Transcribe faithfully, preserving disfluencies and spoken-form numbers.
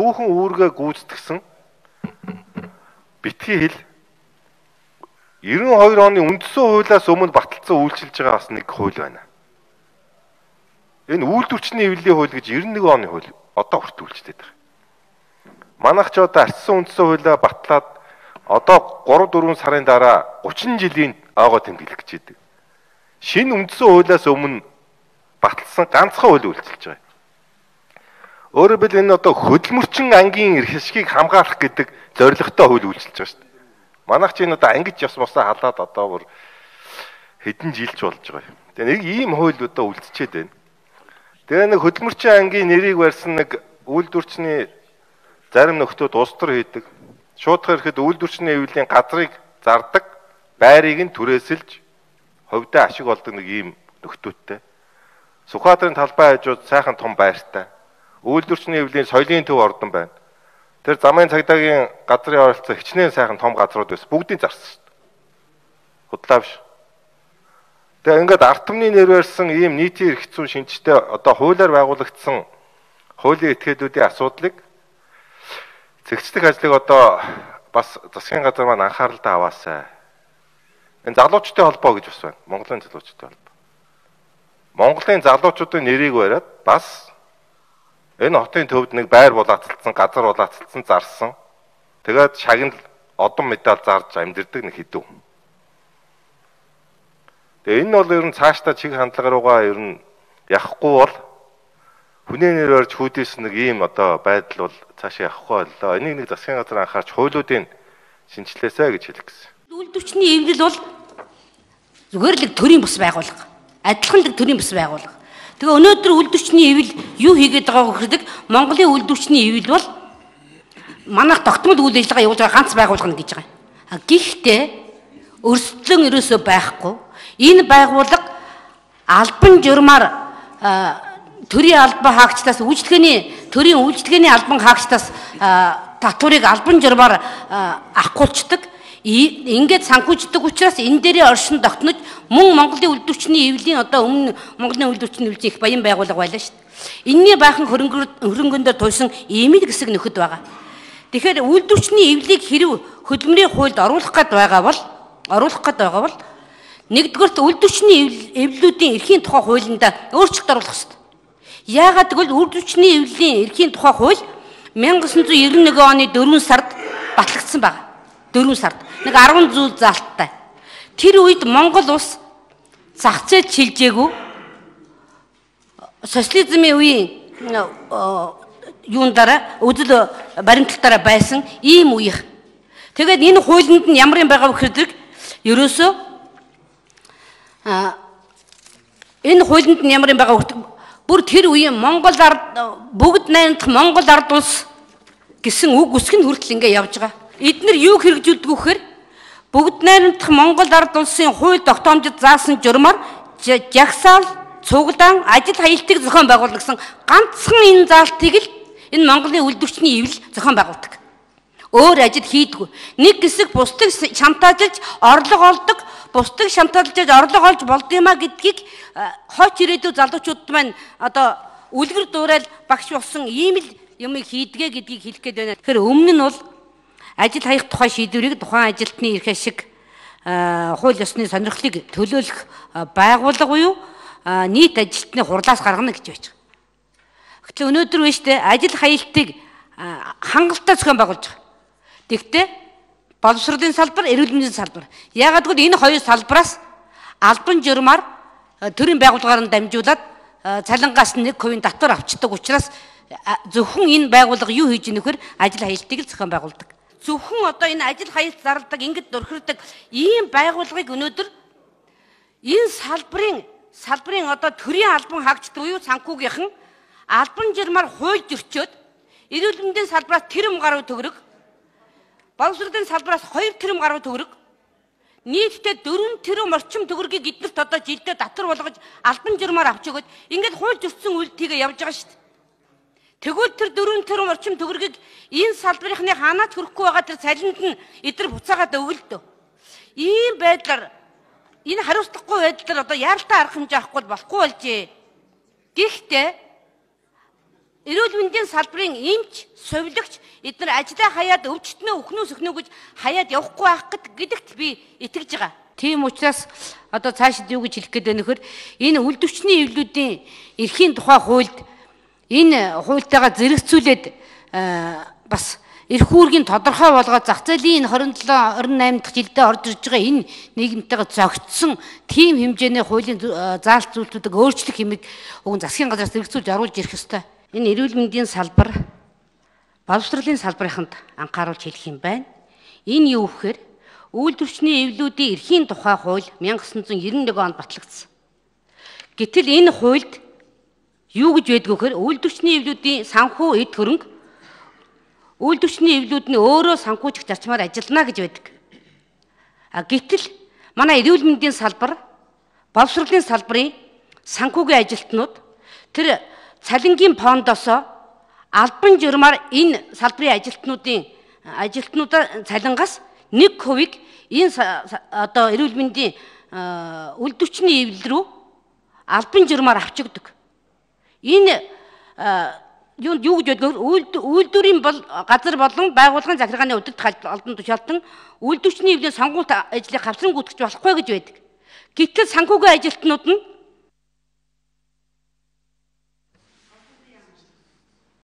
түүхэн үүргээ гүйцэтгсэн битгий хэл девяносто хоёр оны үндсэн хуулиас өмнө баталсан үйлчилж байгаа бас нэг хууль байна. Энэ үйлдвэрчний эвлэлийн хууль гэж девяносто нэг оны хууль одоо хүртэл үйлчлээд байгаа. Манайх ч одоо арчсан үндсэн хуулиа батлаад одоо гурав дөрвөн сарын дараа гучин жилийн агаа тэмдэглэх гэж байдаг. Шинэ үндсэн хуулиас өмнө баталсан ганцхан хууль үйлчилж байгаа. Өөрөөр хэлбэл энэ одоо хөдөлмөрчин ангийн эрх ашигыг хамгаалах гэдэг зорилготой хууль үйлчилж байгаа шүү дээ. Манайх ч энэ одоо ангиж ёс мосоо халаад одоо бүр хэдэн жилч болж байгаа юм. Тэгээ нэг ийм хууль одоо үлдчихэд байна. Тэгээ нэг хөдөлмөрчин ангийн нэрийг барьсан нэг үйлдвэрчний зарим нөхдүүд улс төр хийдэг. Шуудхан ирэхэд үйлдвэрчний эвлэлийн газрыг зардаг, байрыг нь түрээсэлж хувьдаа ашиг олдог нэг ийм нөхдүүдтэй. Сүхбаатарын талбай хажууд сайхан том байртай. Үйлдвэрчний эвлэлийн соёлын төв ордон байна. Тэр замын цагдаагийн газрын оролцоо хичнээн сайхан том газрууд байсан. Бүгдийг зарсан шүү дээ. Худлаа биш. Тэгээ ингээд ард түмний нэр барьсан ийм нийтийн эрх зүйн шинжтэй одоо хуулиар байгуулагдсан хуулийн этгээдүүдийн асуудлыг зэгцлэх ажлыг одоо бас засгийн газар маань анхааралтай аваасай. Энэ залуучдын холбоо гэж бас байна. Монголын залуучдын холбоо. Монголын залуучуудын нэрийг бариад бас энэ хотын төвд нэг байр булаацалсан, газар булаацалсан, зарсан. Тэгээд шагнал одон медаль зарж амьдэрдэг нэг хэдэн. Тэгээ энэ бол ер нь цаашдаа чиг хандлагаараа ер нь явахгүй бол хүний нэр барьж хүүдээс нэг ийм одоо байдал бол цаашаа явахгүй боллоо. Энийг нэг засгийн газар анхаарч хуулиудын шинжилээсэй гэж хэлэх гэсэн. Үйлдвэрчний эвлэл бол зүгээр л төрийн бус байгууллага. Адилхан л төрийн бус байгууллага. Тэгээ өнөөдөр үйлдвэрчний эвлэл юу хийгээд байгааг гэхэд Монголын үйлдвэрчний эвлэл бол манайх тогтмол үйл ажиллагаа явуулж байгаа ганц байгууллага гэж байгаа. А гэхдээ өрсөлдөн ерөөсөө байхгүй. Энэ байгууллага албан журмаар төрийн албан хаагчдаас үйлчлэгээний төрийн үйлчлэгээний албан хаагчдаас татварыг албан журмаар авахгүйчдэг. Ингээд санхүүждэг учраас энэ дээрээ оршин тогтнож мөн Монголын үйлдвэрчний эвлэлийн одоо өмнө Монголын үйлдвэрчний эвлэлийн их баян байгууллага байлаа шүү дээ. Энэний баахан хөрөнгөнд туйсан иймэл хэсэг нөхөд байгаа. Тэгэхээр үйлдвэрчний эвлэлийг хэрэв хөдөлмөрийн хуульд оруулах гээд байгаа бол оруулах гээд байгаа бол нэгдүгээрт үйлдвэрчний эвлэлүүдийн эрхийн тухай хуулинд өөрчлөлт оруулах ёстой. Яагаад гэвэл үйлдвэрчний эвлэлийн эрхийн тухай хууль мянга девятьсот девяносто нэг оны дөрвөн сард батлагдсан байна. дөрвөн сард нэг арван зүйл заалттай. Тэр үед Монгол улс зах зээл чилжээгүй социализмын үеийн юун дараа үзэл баримталтаараа байсан ийм үеих. Тэгээд энэ хуулинд нь ямар юм байгаа вэ гэхээр ерөөсөө а энэ хуулинд нь ямар юм байгаа вэ бүр тэр үеийн Монгол ард бүгд найрамдах Монгол ард улс гэсэн үг үсэг нь хүртэл ингэ явж байгаа. Эднэр юу хэрэгжүүлдэг вэ гэхээр бүгд найрамдах Монгол ард улсын хууль тогтоомжид заасан журмаар жагсаал, цуглаан, ажил хаялтыг зохион байгуулсан ганцхан энэ заалтыг л энэ Монголын үйлдвэрчний эвлэл зохион байгуулдаг. Өөр ажил хийдэггүй. Нэг хэсэг бусдыг шантаажлж орлого олдог, бусдыг шантаажлж орлого олж болдгиймаа гэдгийг хойч ирээдүйн залуучууд маань одоо үлгэр дуурайл багш болсон ийм л юм хийдгээ гэдгийг хэлэх гээд байна. Тэгэхээр өмнө нь бол ажил хаях тухай шийдвэрийг тухайн ажилтны эрх ашиг хууль ёсны сонирхлыг төлөөлөх байгууллага буюу нийт ажилтны хурлаас гаргана гэж байж байгаа. Гэтэл өнөөдөр вэ штэ ажил хаялтыг хангалттай зохион байгуулж байгаа. Тэгвэл боловсролын салбар, эрүүл мэндийн салбар. Яагаад гэвэл энэ хоёр салбараас албан журмаар төрийн байгууллагаар нь дамжуулаад цалингаас нэг хувийн татвар авчдаг учраас зөвхөн энэ байгууллага юу хийж ийнэ вэхээр ажил хаялтыг л зохион байгуулдаг. Зөвхөн одоо энэ ажил хаялт зарладаг, ингэж дөрхирдэг ийм байгууллагыг өнөөдөр энэ салбарын салбарын одоо төрийн албан хаагчд буюу санхүүгийнхэн албан журмаар хууль зөрчөөд эрүүл мэндийн салбараас тэрэм гаруй төгрөг, боловсролын салбараас хоёр тэрэм гаруй төгрөг, нийтдээ дөрвөн тэрэм орчим төгрөгийг эднэрт одоо жилдээ татвар болгож албан журмаар авч өгöd ингээд хууль зөрчсөн үйлдэлийг явж байгаа шүү дээ. Тэгвэл тэр дөрвөн тэрэм орчим төгрөгийг энэ салбарынхны ханаач хөрөхгүй байгаа тэр цалинд нь эдгээр буцаагаад өгөлдөө. Ийм байдлаар энэ хариуцлагагүй байдлаар одоо яаралтай арга хэмжээ авахгүй болохгүй болжээ. Гэхдээ эрүүл мэндийн салбарын эмч, сувилагч эдгээр ажлаа хаяад өвчтнөө өхнөө сөхнөө гэж хаяад явахгүй байх гэдэгт би итгэж байгаа. Тийм учраас одоо цаашид юу гэж хэлэх гээд байна нөхөр энэ үлдвчний эвлүүдийн эрхийн тухай хуульд энэ хуультайгаа зэрэгцүүлээд бас эрх үүргийн тодорхой болгоод зах зээлийн энэ двадцать seven twenty-eight дахь жилдээ орж ирж байгаа энэ нийгэмтэйгээ зохицсон тийм хэмжээний хуулийн заалт зүйлтүүдийг өөрчлөх хэмээг өгөн засгийн газраас зэрэгцүүлж оруулж ирэх ёстой. Энэ эрүүл мэндийн салбар боловсролын салбарынханд анхааруулж хэлэх юм байна. Энэ юу гэхээр үйлдвэрчний эвлүүдийн эрхийн тухай хууль nineteen ninety-one онд батлагдсан. Гэтэл энэ хуульд юу гэж байдг вэ гэхээр үйлдвэрчний эвлүүдийн санхүү эд хөрөнгө үйлдвэрчний эвлүүд нь өөрөө санхүүжих зарчмаар ажиллана гэж байдаг. А гэтэл манай эрүүл мэндийн салбар, боловсролын салбарын санхүүгийн ажилтнууд тэр цалингийн фондоос албан журмаар энэ салбарын ажилтнуудын ажилтнуудаа цалингаас нэг хувийг энэ одоо эрүүл мэндийн үйлдвэрчний эвлэл рүү албан журмаар авчигдаг. Энэ юу юу гэж бодгоор үйлдвэрийн бол газар болон байгууллагын захиргааны удирдах албан тушаалтан үйлдвэрчний эвлэлийн сонгуульт ажлыг хавцран гүйтгэж болохгүй гэж байдаг. Гэтэл санхүүгийн ажилтнууд нь